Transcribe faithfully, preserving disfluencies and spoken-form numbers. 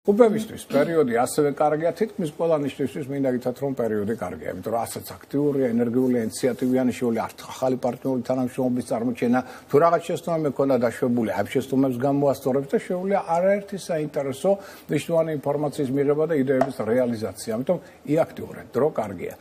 Უბებისთვის პერიოდი ასევე კარგია, თითქმის ყველა ნიშნისთვის მინდა გითხრათ, რომ პერიოდი კარგია, იმიტომ რომ ასეც აქტიურია, ენერგიული, ინიციატივიანი შეუძლია ახალი პარტნიორული თანამშრომლობის წარმოჩენა, თუ რაღაც შეცდომა მქონდა დაშვებული, ამ შეცდომებს გამოასწორებს და შეუძლია არაერთი საინტერესო მნიშვნელოვანი ინფორმაციის მიღება და იდეების რეალიზაცია, ამიტომ იაქტიურეთ, დრო კარგია.